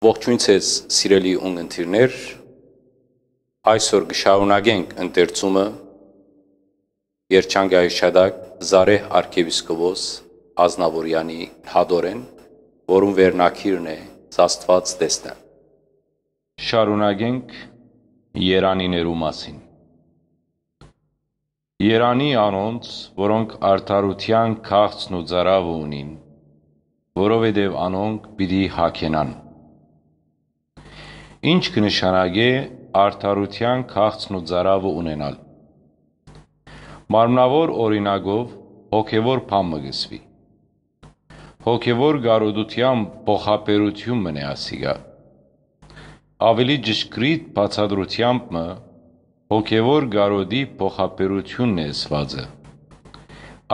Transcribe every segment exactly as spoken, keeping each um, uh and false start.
Ողջույն ձեզ, սիրելի ունգընտիրներ։ Այսօր կը շարունակենք ընթերցումը Երջանկայի հիշատակ Զարեհ արքեպիսկոպոս Ազնաւորեանի հատորեն, որուն վերնագիրն է «Աստուած տեսնել»։ Շարունակենք երանիներու մասին։ Երանի անոնց, որոնք արդարութեան քաղցն ու ծարաւը ունին, որովհետեւ անոնք պիտի հագենան։ Ինչ կը նշանակէ արդարութեան քաղցն ու ծարաւը ունենալ։ Մարմնաւոր օրինակով հոգեւոր բան մը կը սուի։ Հոգեւոր կարօտութեան փոխաբերութիւն մը է ասիկա։ Աւելի ճշգրիտ բացատրութեամբ մը, հոգեւոր կարօտի փոխաբերութիւնն է ըսուածը։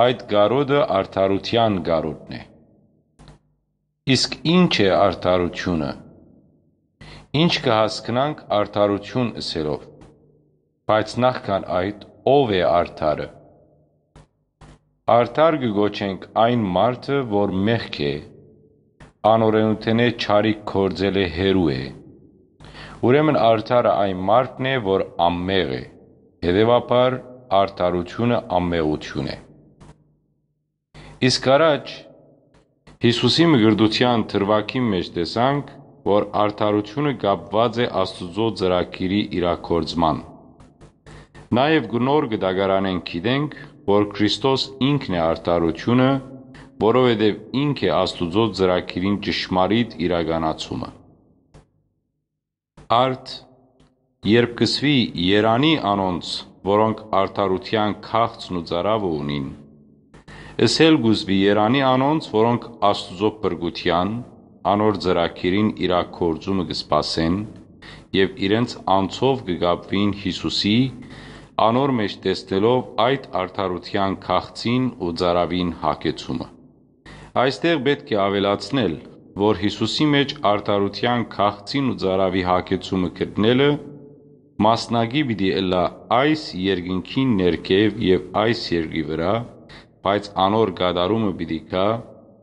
Այդ կարօտը արդարութեան կարօտն է։ Իսկ ինչ է արդարութիւնը։ Ինչ կը հասկնանք արդարութիւն ըսելով, բայց նախքան այդ, ո՞վ է արդարը։ Արդար կը կոչենք այն մարդը, որ մեղք է, անօրէնութենէ չարիք գործելէ հեռու է։ Ուրեմն արդարը այն մարդն է, որ անմեղ է, հետեւաբար արդարութիւնը անմեղութիւն է։ Իսկ առաջ Յիսուսի մկրտութեան դրուագին մէջ տեսանք, որ արդարութիւնը կապուած է Աստուծոյ ծրագիրի իրագործման։ Նաեւ կը նոր կը դակարանենք գիտենք, որ Քրիստոս ինքն է արդարութիւնը, որովհետեւ ինք է Աստուծոյ ծրագիրին ճշմարիտ իրականացումը։ Արդ, երբ կը սուի երանի անոնց, որոնք արդարութեան քաղցն ու ծարաւը ունին, ըսել կու սուի երանի անոնց, որոնք Աստուծոյ փրկութեան, անոր ծրագիրին իրագործումը կը սպասեն եւ իրենց անձով կը կապուին Յիսուսի, անոր մէջ տեսնելով այդ արդարութեան քաղցին ու ծարաւին հագեցումը։ Այստեղ պէտք է աւելացնել, որ Յիսուսի մէջ արդարութեան քաղցին ու ծարաւի հագեցումը գտնելը մասնակի պիտի ըլլայ այս երկնքին ներքեւ եւ այս երկրի վրայ, բայց անոր կատարումը պիտի գայ,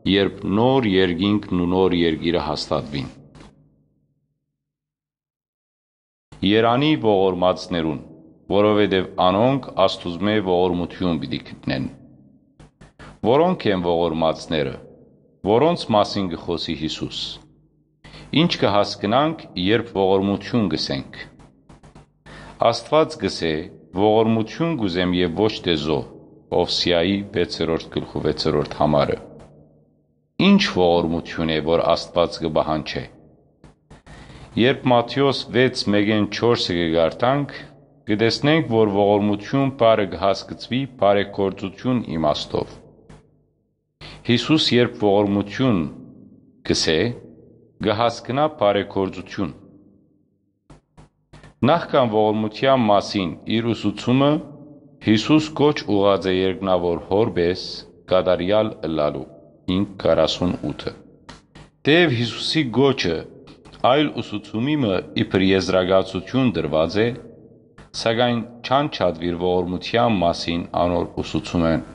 երբ նոր երկինքն ու նոր երկիրը հաստատուին։ Երանի ողորմածներուն, որովհետեւ անոնք Աստուծմէ ողորմութիւն պիտի գտնեն։ Որո՞նք են ողորմածները, որոնց մասին կը խօսի Յիսուս։ Ի՞նչ կը հասկնանք, երբ ողորմութիւն կ'ըսենք։ Աստուած կ'ըսէ. «Ողորմութիւն կ'ուզեմ եւ ոչ թէ զոհ», Ովսեայի վեցերորդ գլխու վեցերորդ համարը։ Ի՞նչ ողորմութիւն է, որ Աստուած կը պահանջէ։ Երբ Մատթէոս վեց մէկէն չորսը կը կարդանք, կը տեսնենք, որ ողորմութիւն բառը կը հասկցուի բարեգործութիւն իմաստով։ Յիսուս երբ ողորմութիւն կ'ըսէ, կը հասկնայ բարեգործութիւն։ Նախքան ողորմութեան մասին իր ուսուցումը, Յիսուս կոչ ուղղած է երկնաւոր Հօր պէս կատարեալ ըլլալու, Հինգ քառասուն ութը։ Թէեւ Յիսուսի կոչը այլ ուսուցումի մը իբր եզրակացութիւն տրուած է, սակայն չանջատուիր ողորմութեան մասին անոր ուսուցումէն։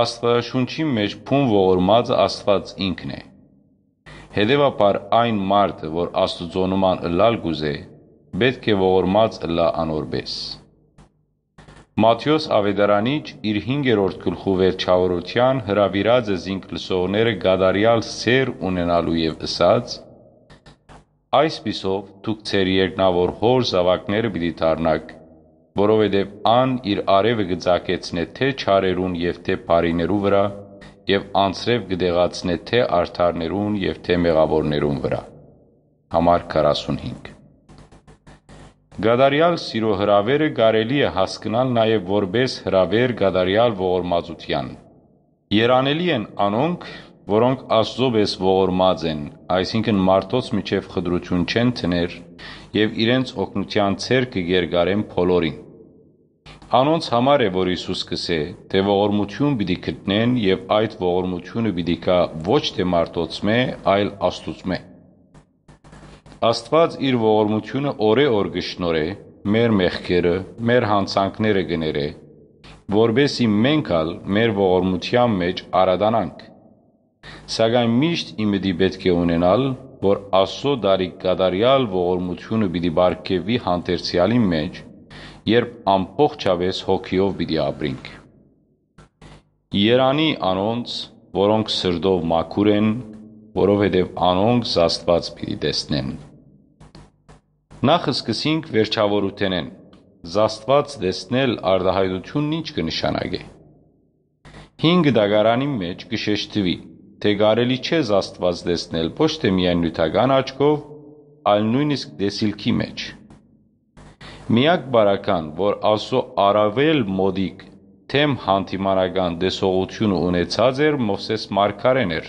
Աստուածաշունչին մէջ բուն ողորմածը Աստուած ինքն է։ Հետեւաբար այն մարդը, որ Աստուծոյ նման ըլլալ կ'ուզէ, պէտք է ողորմած ըլլայ անոր պէս։ Մատթէոս աւետարանիչ իր հինգերորդ գլխու վերջաւորութեան հրաւիրած է զինք լսողները կատարեալ սէր ունենալու եւ ըսած. «Այսպիսով դուք ձեր երկնաւոր Հօր զաւակները պիտի դառնաք, որովհետեւ ան իր արեւը կը ծագեցնէ թէ չարերուն եւ թէ բարիներու վրայ, եւ անձրեւ կը տեղացնէ թէ արդարներուն եւ թէ մեղաւորներուն վրայ»։ Համար քառասունհինգ։ Կատարեալ սիրո հրաւերը կարելի է հասկնալ նաեւ որպէս հրաւեր կատարեալ ողորմածութեան։ Երանելի են անոնք, որոնք Աստուծոյ պէս ողորմած են, այսինքն մարդոց միջեւ խտրութիւն չեն դներ եւ իրենց օգնութեան ձեռքը կ'երկարեն բոլորին։ Անոնց համար է, որ Յիսուս կ'ըսէ, թէ ողորմութիւն պիտի գտնեն եւ այդ ողորմութիւնը պիտի գայ ոչ թէ մարդոցմէ, այլ Աստուծմէ։ Աստուած իր ողորմութիւնը օրէ օր կը շնորհէ մեր մեղքերը, մեր յանցանքները կը ներէ, որպէս զի մենք ալ մեր ողորմութեան մէջ արատանանք։ Սակայն միշտ ի մտի պէտք է ունենալ, որ Աստուծոյ տարիք կատարեալ ողորմութիւնը պիտի պարգեւուի հանդերձեալին մէջ, երբ ամբողջապէս հոգիով պիտի ապրինք։ Երանի անոնց, որոնք սրտով մաքուր են, որովհետեւ անոնք Աստուած պիտի տեսնեն։ Նախ սկսենք վերջաւորութենէն։ Աստուած տեսնել արտայայտութիւնն ի՞նչ կը նշանակէ։ Հինգ դագարանին մէջ կը շեշտուի, թէ կարելի չէ Աստուած տեսնել ոչ թէ միայն նիւթական աչքով, այլ նոյնիսկ տեսիլքի մէջ։ Միակ պարագան, որ Աստուծոյ առաւել մօտիկ թեմ հանդիմանական տեսողութիւնը ունեցած էր Մովսէս մարգարէն էր։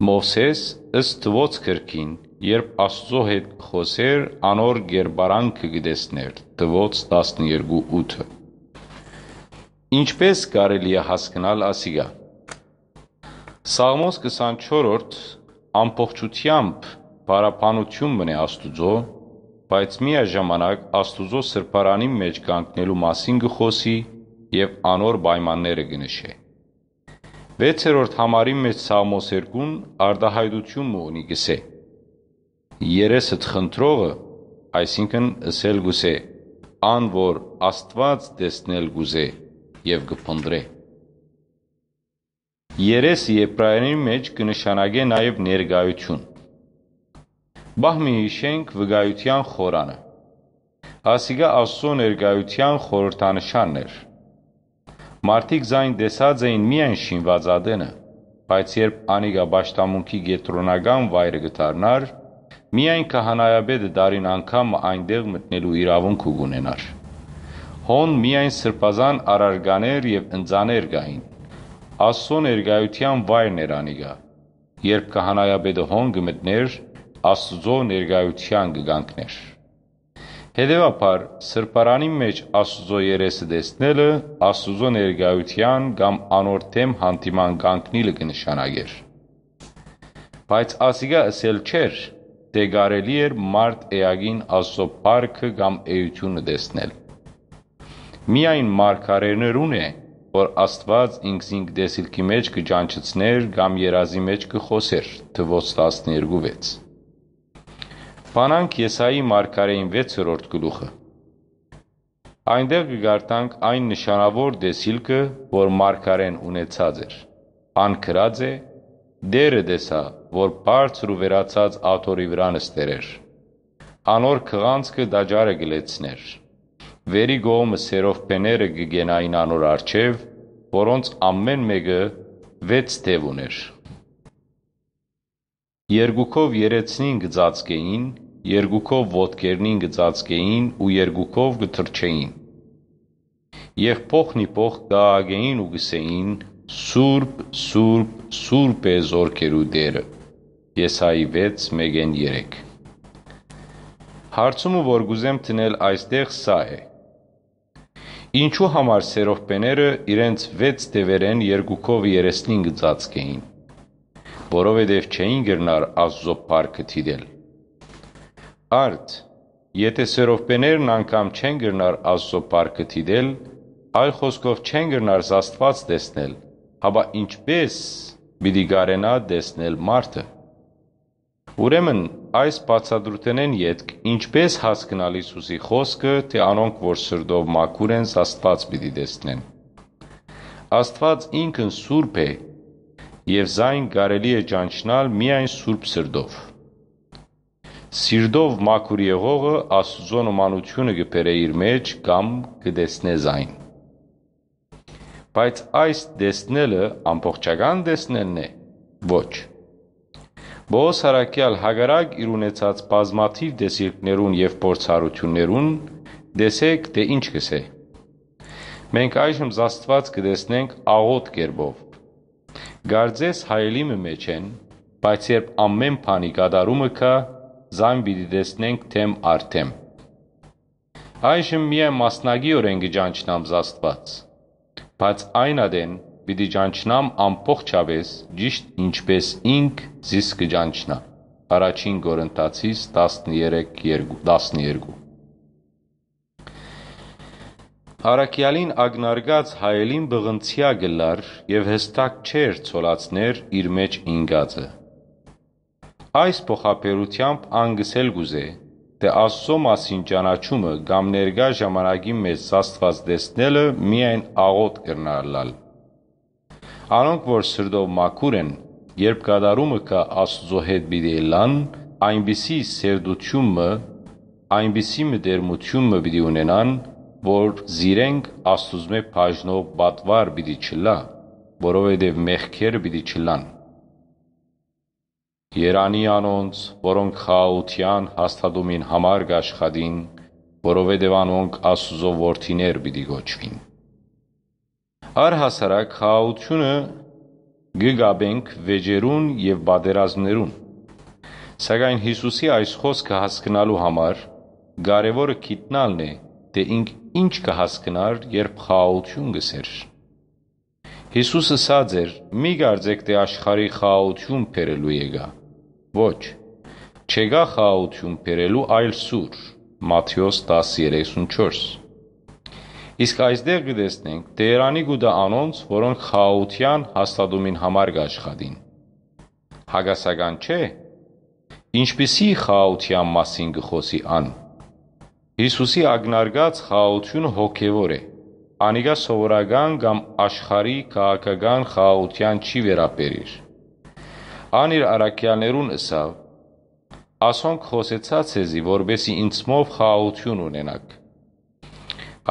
Մովսէս, ըստ թուոց գրքին, երբ Աստուծոյ հետ կը խօսէր, անոր կերպարանքը կը տեսնէր, թուոց տասներկու ութը։ Ինչպէս կարելի է հասկնալ ասիկա։ Սաղմոս քսանչորրորդ ամբողջութեամբ փառաբանութիւն մըն է Աստուծոյ, բայց միաժամանակ Աստուծոյ սրբարանին մէջ կանգնելու մասին կը խօսի եւ անոր պայմանները կը նշէ։ Վեցերորդ համարին մէջ Սաղմոս երկուն արտայայտութիւն մը ունի, կ'ըսէ. «Երեսդ խնդրողը», այսինքն՝ ըսել կ'ուզէ, ան որ Աստուած տեսնել կ'ուզէ եւ կը փնտռէ։ Երեսը Եբրայերէնի մէջ կը նշանակէ նաեւ ներկայութիւն։ Պահ մը յիշենք վկայութեան խորանը։ Ասիկա Աստուծոյ ներկայութեան խորհրդանշանն էր։ Մարդիկ զայն տեսած էին միայն շինուած ատենը, բայց երբ անիկա պաշտամունքի կեդրոնական վայրը կը դառնար, միայն քահանայապետը տարին անգամ մը այնտեղ մտնելու իրաւունքը կ'ունենար։ Հոն միայն սրբազան առարկաներ եւ ընծաներ կային։ Աստուծոյ ներկայութեան վայրն էր անիկա։ Երբ քահանայապետը հոն կը մտնէր, Աստուծոյ ներկայութեան կը կանգնէր։ Հետեւաբար, սրբարանին մէջ Աստուծոյ երեսը տեսնելը Աստուծոյ ներկայութեան կամ անոր դէմ հանդիման կանգնիլը կը նշանակէր։ Բայց ասիկա ըսել չէր, թէ կարելի էր մարդ էակին Աստուծոյ փառքը կամ էութիւնը տեսնել։ Միայն մարգարէներուն է, որ Աստուած ինքզինք տեսիլքի մէջ կը ճանչցնէր կամ երազի մէջ կը խօսէր, թուոց տասներկու վեց։ Բանանք Եսայի մարգարէին վեցերորդ գլուխը։ Այնտեղ կը կարդանք այն նշանաւոր տեսիլքը, որ մարգարէն ունեցած էր։ Ան գրած է. «Տէրը տեսայ, որ բարձր ու վերացած աթոռի վրայ նստեր էր։ Անոր քղանցքը տաճարը կը լեցնէր։ Վերի կողմը սերովբեները կը կենային անոր առջեւ, որոնց ամէն մէկը վեց դեւ ունէր։ Երկուքով երեսնին կը ծածկէին, երկուքով ոտքերնին կը ծածկէին ու երկուքով կը թռչէին։ Եւ փոխնիփոխ կը աղաղէին ու կ'ըսէին. "Սուրբ, սուրբ, սուրբ է զորքերու Տէրը"»։ Եսայի վեց, մէկէն երեք։ Հարցումը, որ կ'ուզեմ դնել այստեղ, սա է. ինչու համար սերովբեները իրենց վեց դեւերէն երկուքով երեսնին կը ծածկէին, որովհետեւ չէին կրնար Աստուծոյ փառքը դիտել։ Արդ, եթէ սերովբեներն անգամ չեն կրնար Աստուծոյ փառքը դիտել, այլ խօսքով չեն կրնար Աստուած տեսնել, հապա ինչպէ՞ս պիտի կարենայ տեսնել մարդը։ Ուրեմն, այս բացատրութենէն ետք ինչպէ՞ս հասկնալ Յիսուսի խօսքը, թէ անոնք, որ սրտով մաքուր են, Աստուած պիտի տեսնեն։ Աստուած ինքն սուրբ է, եւ զայն կարելի է ճանչնալ միայն սուրբ սրտով։ Սիրտով մաքուր եղողը Աստուծոյ նմանութիւնը կը բերէ իր մէջ կամ կը տեսնէ զայն։ Բայց այս տեսնելը ամբողջական տեսնելն է։ Ոչ։ Պողոս Առաքեալ, հակառակ իր ունեցած բազմաթիւ տեսիլքներուն եւ փորձառութիւններուն, տեսէք, թէ ինչ կ'ըսէ. "Մենք այժմ Աստուած կը տեսնենք աղոտ կերպով։ Կարծես հայելի մը մէջ են, բայց երբ ամէն բանի կատարումը գայ, զայն պիտի տեսնենք դէմ առ դէմ"։ Այժմ միայն մասնակիորեն կը ճանչնամ Աստուած, բայց այն ատեն պիտի ճանչնամ ամբողջապէս, ճիշդ ինչպէս ինք զիս կը ճանչնայ։ Առաջին Կորինթացիս տասներեք երկու, տասներկու։ Առաքեալին ակնարկած հայելին պղնձեայ կ'ըլլար եւ յստակ չէր ցոլացներ իր մէջ ինկածը։ Այս փոխաբերութեամբ ան կ'ըսել կ'ուզէ, թէ Աստուծոյ մասին ճանաչումը կամ ներկայ ժամանակին մէջ Աստուած տեսնելը միայն աղօթք կրնայ ըլլալ։ Անոնք որ սրտով մաքուր են, երբ կատարումը կայ Աստուծոյ հետ պիտի ըլլան, այնպիսի սերտութիւն մը, այնպիսի մտերմութիւն մը պիտի ունենան, որ զիրենք Աստուծմէ բաժնող պատուար պիտի չըլլայ, որովհետեւ մեղքերը պիտի չըլլան։ Երանի անոնց, որոնք խաղաղութեան հաստատումին համար կ'աշխատին, որովհետեւ անոնք Աստուծոյ որդիներ պիտի կոչուին։ Առհասարակ խաղաղութիւնը կը կապենք վէճերուն եւ պատերազմներուն։ Սակայն Յիսուսի այս խօսքը հասկնալու համար կարեւորը գիտնալն է, թէ ինք ինչ կը հասկնար, երբ խաղաղութիւն կ'ըսէր։ Յիսուս ըսած էր. «Մի կարծէք թէ աշխարհի խաղաղութիւն բերելու եկայ։ Ոչ, չեկայ խաղաղութիւն բերելու, այլ սուր»։ Մատթէոս տասը երեսուն չորս։ Իսկ այստեղ կը տեսնենք թէ երանի կու տայ անոնց, որոնք խաղաղութեան հաստատումին համար կ'աշխատին։ Հակասական չէ։ Ինչպիսի՞ խաղաղութեան մասին կը խօսի ան։ Յիսուսի ակնարկած խաղաղութիւնը հոգեւոր է։ Անիկա սովորական կամ աշխարհի քաղաքական խաղաղութեան չի վերաբերիր։ Ան իր առաքեալներուն ըսաւ. «Ասոնք խօսեցայ ձեզի, որպէս զի ինծմով խաղաղութիւն ունենաք։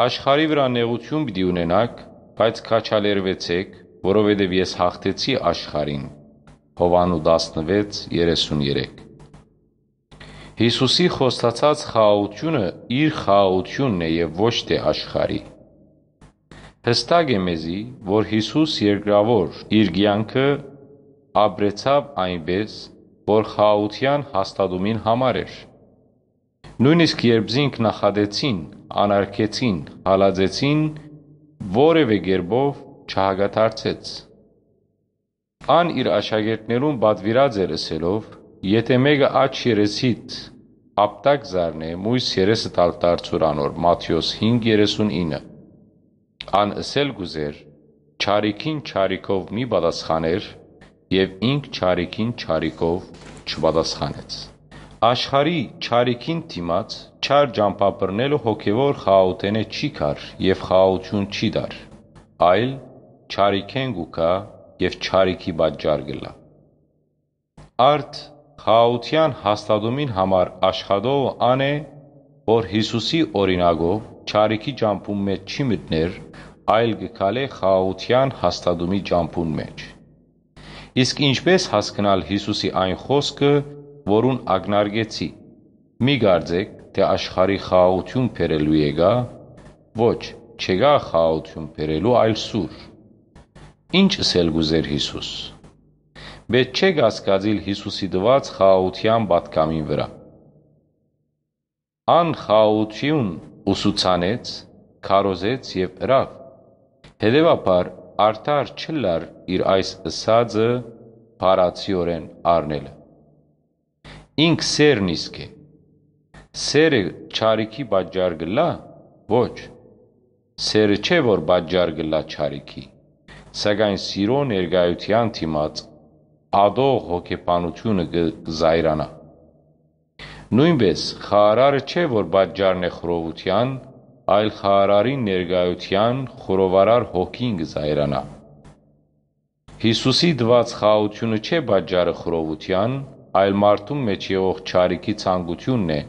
Աշխարհի վրայ նեղութիւն պիտի ունենաք, բայց քաջալերուեցէք, որովհետեւ ես յաղթեցի աշխարհին»։ Յովհաննէս տասնվեց երեսուն երեք։ Յիսուսի խոստացած խաղաղութիւնը իր խաղաղութիւնն է եւ ոչ թէ աշխարհի։ Յստակ է մեզի, որ Յիսուս երկրաւոր իր կեանքը ապրեցաւ այնպէս, որ խաղաղութեան հաստատումին համար էր։ Նոյնիսկ երբ զինք նախատեցին, անարգեցին, հալածեցին, որեւէ կերպով չհակադարձեց։ Ան իր աշակերտներուն պատուիրած էր ըսելով. «Եթէ մէկը աջ երեսիդ ապտակ զարնէ, միւս երեսդ ալ դարձուր անոր»։ Մատթէոս հինգ երեսուն ինը։ Ան ըսել կ'ուզէր. «Չարիքին չարիքով մի պատասխաներ», եւ ինք չարիքին չարիքով չպատասխանեց։ Աշխարհի չարիքին դիմաց չար ճամբայ բռնելը հոգեւոր խաղաղութենէ չի գար եւ խաղաղութիւն չի տար, այլ չարիքէն կու գայ եւ չարիքի պատճառ կ'ըլլայ։ Արդ խաղաղութեան հաստատումին համար աշխատողը ան է, որ Յիսուսի օրինակով չարիքի ճամբուն մէջ չի մտներ, այլ կը քալէ խաղաղութեան հաստատումի ճամբուն մէջ։ Իսկ ինչպէ՞ս հասկնալ Յիսուսի այն խօսքը, որուն ակնարկեցի. «Մի կարծէք թէ աշխարհի խաղաղութիւն բերելու եկայ, ոչ, չեկայ խաղաղութիւն բերելու, այլ սուր»։ Ինչ ըսել կ'ուզէր Յիսուս։ Պէտք չէ կասկածիլ Յիսուսի տուած խաղաղութեան պատգամին վրայ։ Ան խաղաղութիւն ուսուցանեց, քարոզեց եւ ըրաւ։ Հետեւաբար, արդար չըլլար իր այս ըսածը փառացիորեն առնելը։ Ինք սերն իսկ է։ Սերը չարիքի պատճառ կ'ըլլա՞։ Ոչ։ Սերը չէ, որ պատճառ կ'ըլլայ չարիքի, սակայն սիրո ներկայութեան դիմաց ատող հոգեբանութիւնը կը զայրանայ։ Նոյնպէս խաղարարը չէ, որ պատճառն է խռովութեան, այլ խաղարարին ներկայութեան խռովարար հոգին կը զայրանայ։ Յիսուսի տուած խաղաղութիւնը չէ պատճառը խռովութեան, այլ մարդուն մէջ եղող չարիքի ցանկութիւնն է,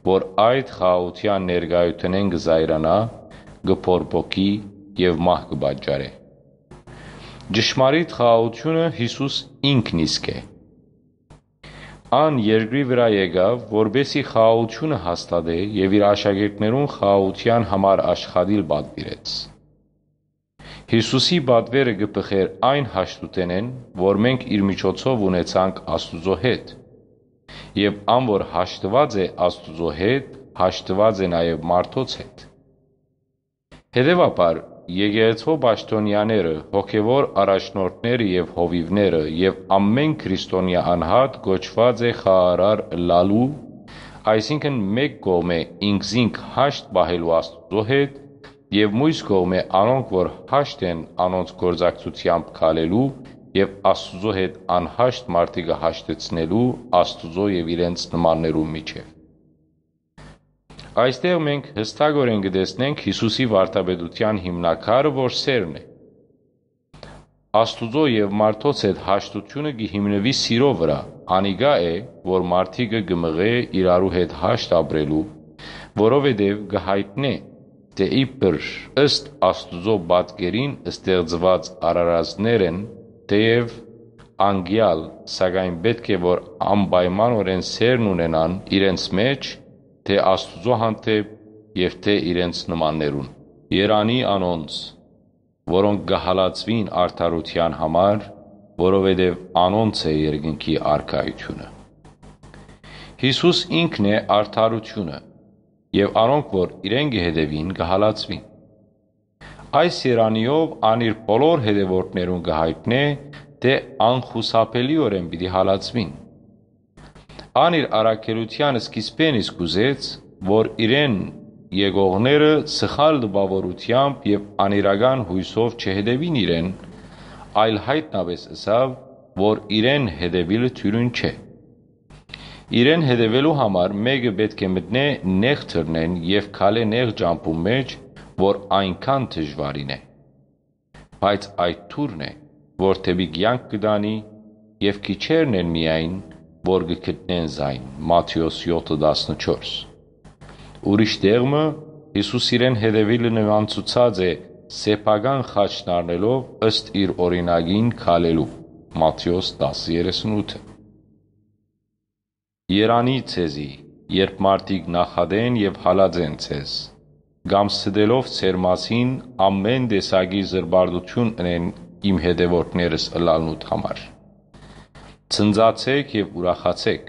որ այդ խաղաղութեան ներկայութենէն կը զայրանայ, կը բորբոքի եւ մահ կը պատճառէ։ Ճշմարիտ խաղաղութիւնը Յիսուս ինքն իսկ է։ Ան երկրի վրայ եկաւ, որպէս զի խաղաղութիւնը հաստատէ եւ իր աշակերտներուն խաղաղութեան համար աշխատիլ պատուիրեց։ Յիսուսի պատուերը կը բխէր այն հաշտութենէն, որ մենք իր միջոցով ունեցանք Աստուծոյ հետ, եւ ան որ հաշտուած է Աստուծոյ հետ, հաշտուած է նաեւ մարդոց հետ։ Հետեւաբար, եկեղեցւոյ պաշտօնեաները, հոգեւոր առաջնորդները եւ հովիւները եւ ամէն քրիստոնեայ անհատ կոչուած է խաղարար ըլլալու, այսինքն՝ մէկ կողմէ ինքզինք հաշտ պահելու Աստուծոյ հետ Եւ միւս կողմէ անոնք որ հաշտ են անոնց գործակցութեամբ քալելու եւ Աստուծոյ հետ անհաշտ մարդիկը հաշտեցնելու Աստուծոյ եւ իրենց նմաններուն միջեւ։ Այստեղ մենք յստակօրէն կը տեսնենք Յիսուսի վարդապետութեան հիմնակարը, որ սէրն է։ Աստուծոյ եւ մարդոց հետ հաշտութիւնը կը հիմնուի սիրոյ վրայ։ Անիկա է, որ մարդիկը կը մղէ իրարու հետ հաշտ ապրելու, որովհետեւ կը յայտնէ, թէ իբր ըստ Աստուծոյ պատկերին ստեղծուած արարածներ են, թէեւ անկեալ, սակայն պէտք է որ անպայմանօրէն սէրն ունենան իրենց մէջ, թէ Աստուծոյ հանդէպ եւ թէ իրենց նմաններուն։ Երանի անոնց, որոնք կը հալածուին արդարութեան համար, որովհետեւ անոնց է երկնքի արքայութիւնը։ Յիսուս ինքն է արդարութիւնը, եւ անոնք որ իրեն կը հետեւին, կը հալածուին։ Այս երանիով ան իր բոլոր հետեւորդներուն կը յայտնէ, թէ անխուսափելիօրէն պիտի հալածուին։ Ան իր առաքելութեան սկիզբէն իսկ ուզեց, որ իրեն եկողները սխալ տպաւորութեամբ եւ անիրական յոյսով չհետեւին իրեն, այլ յայտնապէս ըսաւ, որ իրեն հետեւիլը թիւրին չէ։ Իրեն հետեւելու համար մէկը պէտք է մտնէ նեղ դռնէն եւ քալէ նեղ ճամբուն մէջ, որ այնքան դժուարին է։ Բայց այդ դուռն է, որ դէպի կեանք կը տանի, եւ քիչերն են միայն, որ կը գտնեն զայն։ Մատթէոս յոթը տասնչորս։ Ուրիշ տեղ մը Յիսուս իրեն հետեւիլը նմանցուցած է սեփական խաչն առնելով ըստ իր օրինակին քալելու։ Մատթէոս տասը երեսունութը։ Երանի ձեզի, երբ մարդիկ նախատեն եւ հալածեն ձեզ, կամ ստելով ձեր մասին ամէն տեսակի զրպարտութիւն ընեն իմ հետեւորդներս ըլլալնուդ համար։ Ցնծացէք եւ ուրախացէք,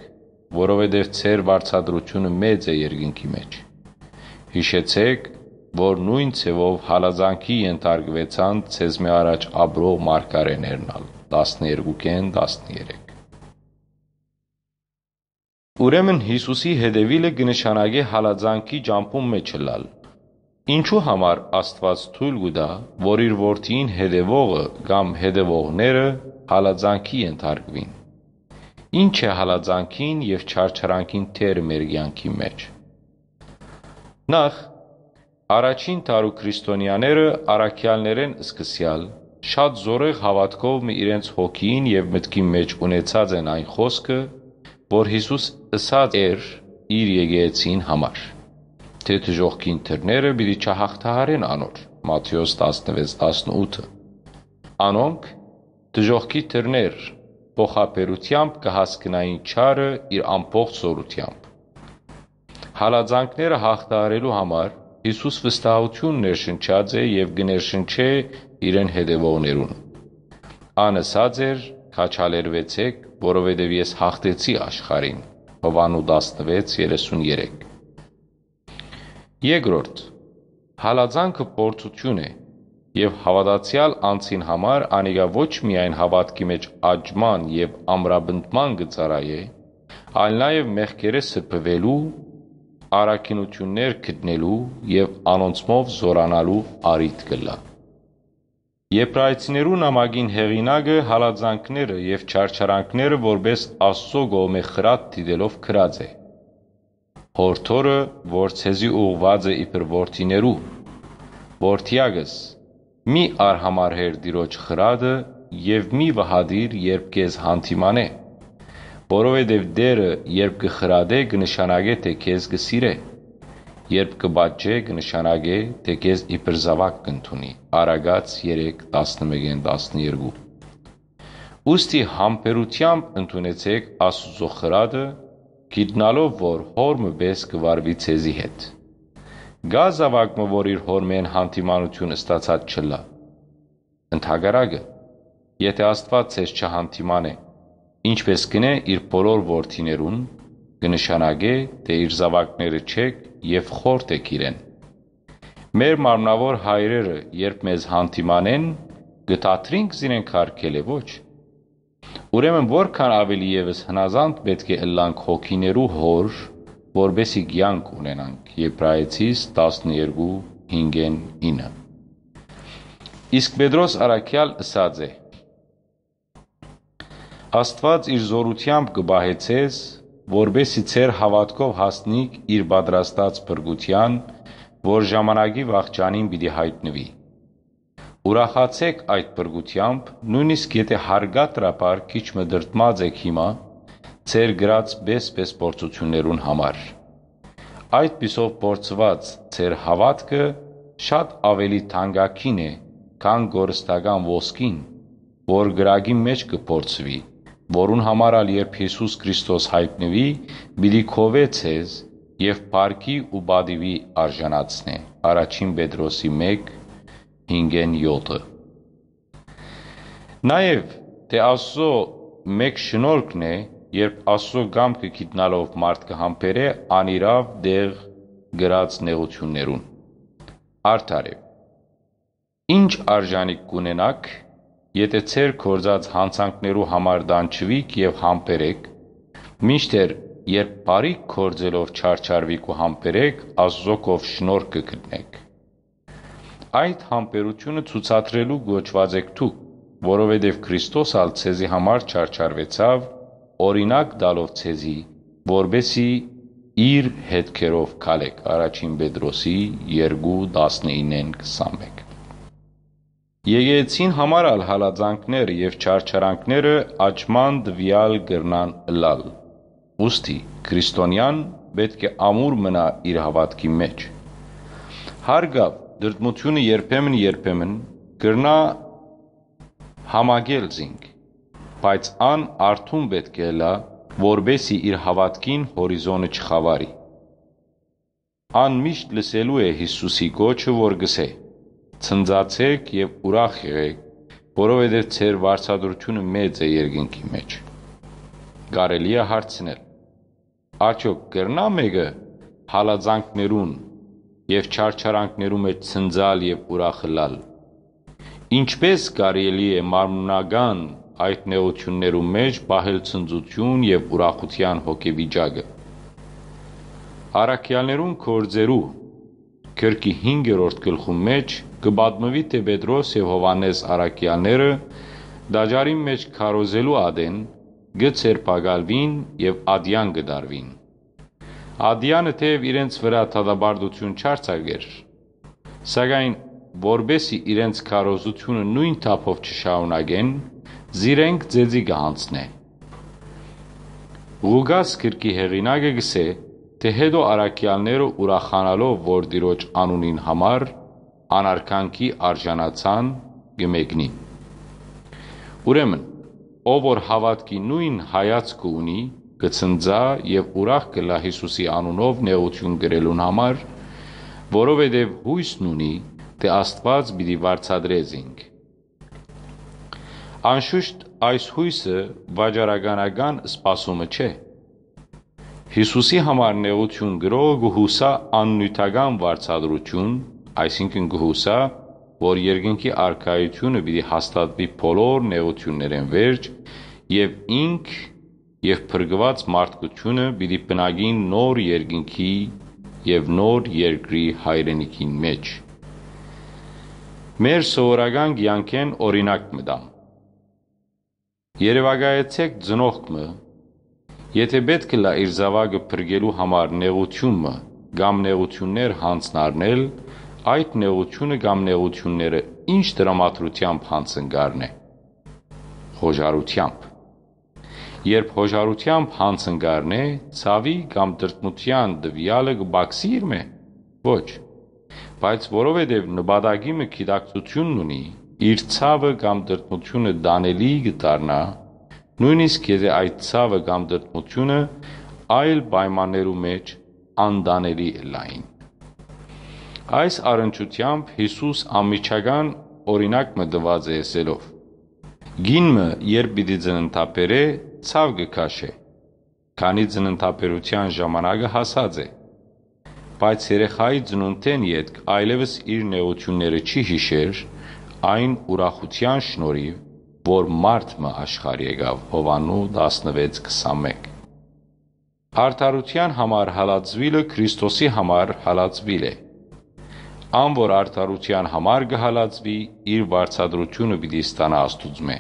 որովհետեւ ձեր վարձատրութիւնը մեծ է երկնքի մէջ։ Յիշեցէք, որ նոյն ձեւով հալածանքի ենթարկուեցան ձեզմէ առաջ ապրող մարգարէներն ալ, տասներկուքէն տասներեք։ Ուրեմն Յիսուսի հետեւիլը կը նշանակէ հալածանքի ճամբուն մէջ ըլլալ։ Ինչո՞ւ համար Աստուած թոյլ կու տայ, որ իր որդիին հետեւողը կամ հետեւողները հալածանքի ենթարկուին։ Ի՞նչ է հալածանքին եւ չարչարանքին դերը մեր կեանքի մէջ։ Նախ, առաջին դարու քրիստոնեաները առաքեալներէն սկսեալ շատ զօրեղ հաւատքով մը իրենց հոգիին եւ մտքին մէջ ունեցած են այն խօսքը, որ Յիսուս ըսած էր իր եկեղեցին համար, թէ դժոխքին դռները պիտի չյաղթահարեն անոր, Մատթէոս տասնվեց տասնութը։ Անոնք դժոխքի դռներ փոխաբերութեամբ կը հասկնային չարը իր ամբողջ զօրութեամբ։ Հալածանքները յաղթահարելու համար Յիսուս վստահութիւն ներշնչած է եւ կը ներշնչէ իրեն հետեւողներուն։ Ան ըսած էր. «Քաջալերուեցէք, որովհետեւ ես յաղթեցի աշխարհին», Յովհաննու տասնվեց երեսուն երեք։ Երկրորդ, հալածանքը փորձութիւն է, եւ հաւատացեալ անձին համար անիկա ոչ միայն հաւատքի մէջ աճման եւ ամրապնդման կը ծառայէ, այլ նաեւ մեղքերէ սրբուելու, առաքինութիւններ գտնելու եւ անոնցմով զօրանալու առիթ կ'ըլլայ։ Եբրայեցիներու նամակին հեղինակը հալածանքները եւ չարչարանքները որպէս Աստուծոյ կողմէ խրատ դիտելով գրած է. «Յորդորը, որ ձեզի ուղղուած է իբր որդիներու, որդեակս, մի արհամարհեր Տիրոջ խրատը եւ մի վհատիր, երբ քեզ յանդիմանէ, որովհետեւ Տէրը, երբ կը խրատէ, կը նշանակէ, թէ քեզ կը սիրէ, երբ կը պատժէ, կը նշանակէ, թէ քեզ իբր զաւակ կ'ընդունի»։ Առակաց երեք, տասնմէկէն տասներկու։ Ուստի համբերութեամբ ընդունեցէք Աստուծոյ խրատը, գիտնալով որ հօր մը պէս կը վարուի ձեզի հետ։ Կա՞ զաւակ մը, որ իր հօրմէն յանդիմանութիւն ստացած չըլլայ։ Ընդհակառակը, եթէ Աստուած ձեզ չյանդիմանէ, ինչպէս կ'ընէ իր բոլոր որդիներուն, կը նշանակէ, թէ իր զաւակները չէք եւ խորթ էք իրեն։ Մեր մարմնաւոր հայրերը, երբ մեզ յանդիմանեն, կը դադրինք զիրենք յարգելէ, ոչ։ Ուրեմն որքան աւելի եւս հնազանդ պէտք է ըլլանք հոգիներու Հօր, որպէս զի կեանք ունենանք։ Եբրայեցիս տասներկու հինգ ինը։ Իսկ Պետրոս առաքեալ ըսած է. «Աստուած իր զօրութեամբ կը պահէ ձեզ, որպէսզի ձեր հաւատքով հասնիք իր պատրաստած փրկութեան, որ ժամանակի վախճանին պիտի յայտնուի։ Ուրախացէք այդ փրկութեամբ, նոյնիսկ եթէ հարկադրաբար քիչ մը տրտմած էք հիմա, ձեր կրած պէս-պէս փորձութիւններուն համար։ Այդ պիսով փորձուած ձեր հաւատքը շատ աւելի թանկագին է, քան կորստական ոսկին, որ կրակի մէջ կը փորձուի, որուն համար ալ երբ Յիսուս Քրիստոս յայտնուի, պիտի գովէ ձեզ եւ փառքի ու պատիւի արժանացնէ»։ Առաջին Պետրոսի մէկ, հինգ յոթը։ Նաեւ թէ Աստուծոյ մէկ շնորհքն է, երբ Աստուծոյ կամքը գիտնալով մարդ կը համբերէ անիրաւ տեղ կրած նեղութիւններուն։ Արդարեւ, ինչ արժանիք կ'ունենաք, եթէ ձեր գործած յանցանքներու համար տանջուիք եւ համբերէք, մինչդեռ երբ բարիք գործելով չարչարուիք ու համբերէք, Աստուծոյ կով շնորհք կը գտնէք։ Այդ համբերութիւնը ցուցադրելու կոչուած էք դուք, որովհետեւ Քրիստոս ալ ձեզի համար չարչարուեցաւ, օրինակ տալով ձեզի, որպէսզի իր հետքերով քալէք։ Առաջին Պետրոսի երկու, տասնիննէն քսանմէկ։ Եկեղեցին համար ալ հալածանքները եւ չարչարանքները աճման տուեալ կրնան ըլլալ։ Ուստի քրիստոնեան պէտք է ամուր մնայ իր հաւատքի մէջ։ Հարկաւ, տրտմութիւնը երբեմն-երբեմն կրնայ համակել զինք, բայց ան արթուն պէտք է ըլլայ, որպէսզի իր հաւատքին հորիզոնը չխաւարի։ Ան միշտ լսելու է Յիսուսի կոչը, որ կ'ըսէ. «Ցնծացէք եւ ուրախ եղէք, որովհետեւ ձեր վարձատրութիւնը մեծ է երկնքի մէջ»։ Կարելի է հարցնել. «Արդյոք կրնա՞ մէկը հալածանքներուն եւ չարչարանքներու մէջ ցնծալ եւ ուրախ ըլլալ»։ Ինչպէ՞ս կարելի է մարմնական այդ նեղութիւններու մէջ պահել ցնծութիւն եւ ուրախութեան հոգեվիճակը։ Առաքեալներուն գործերու գրքի հինգերորդ գլխուն մէջ կը պատմուի, թէ Պետրոս եւ Յովհաննէս առաքեալները տաճարին մէջ քարոզելու ատեն կը ձերբակալուին եւ ատեան կը տարուին։ Ատեանը թէեւ իրենց վրայ դատապարտութիւն չարձակէր, սակայն որպէսզի իրենց քարոզութիւնը նոյն թափով չշարունակեն, զիրենք ծեծի կը յանձնէ։ Ղուկաս գրքի հեղինակը կ'ըսէ, թէ հետո առաքեալները ուրախանալով, որ Տիրոջ անունին համար անարգանքի արժանացան, կը մեկնին։ Ուրեմն, ով որ հաւատքի նոյն հայացքը ունի, կը ցնծայ եւ ուրախ կ'ըլլայ Յիսուսի անունով նեղութիւն կրելուն համար, որովհետեւ յոյսն ունի, թէ Աստուած պիտի վարձատրէ զինք։ Անշուշտ, այս յոյսը վաճառականական սպասումը չէ։ Յիսուսի համար նեղութիւն կրողը կը յուսայ աննիւթական վարձատրութիւն, այսինքն՝ կը յուսայ, որ երկնքի արքայութիւնը պիտի հաստատուի բոլոր նեղութիւններէն վերջ եւ ինք եւ փրկուած մարդկութիւնը պիտի բնակին նոր երկնքի եւ նոր երկրի հայրենիքին մէջ։ Մեր սովորական կեանքէն օրինակ մը տամ։ Երեւակայեցէք ծնողք մը, եթէ պէտք ըլլայ իր զաւակը փրկելու համար նեղութիւն մը կամ նեղութիւններ յանձնառնել, այդ նեղութիւնը կամ նեղութիւնները ինչ տրամադրութեամբ յանձն կ'առնէ։ Յօժարութեամբ։ Երբ յօժարութեամբ յանձն կ'առնէ, ցաւի կամ տրտմութեան տուեալը կը պակսի՞ իրմէ։ Ոչ։ Բայց որովհետեւ նպատակի մը գիտակցութիւնն ունի, իր ցաւը կամ տրտմութիւնը տանելի կը դառնայ, նոյնիսկ եթէ այդ ցաւը կամ տրտմութիւնը այլ պայմաններու մէջ անտանելի ըլլային։ Այս առնչութեամբ Յիսուս անմիջական օրինակ մը տուած է ըսելով. «Կին մը, երբ պիտի ծննդաբերէ, ցաւ կը քաշէ, քանի ծննդաբերութեան ժամանակը հասած է։ Բայց երեխայի ծնունդէն ետք այլեւս իր նեղութիւնները չի յիշեր, այն ուրախութեան շնորհիւ, որ մարդ մը աշխարհ եկաւ»։ Յովհաննու տասնվեց, քսանմէկ։ Արդարութեան համար հալածուիլը Քրիստոսի համար հալածուիլ է։ Ան որ արդարութեան համար կը հալածուի, իր վարձատրութիւնը պիտի ստանայ Աստուծմէ։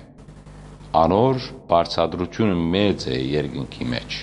Անոր վարձատրութիւնը մեծ է երկնքի մէջ»։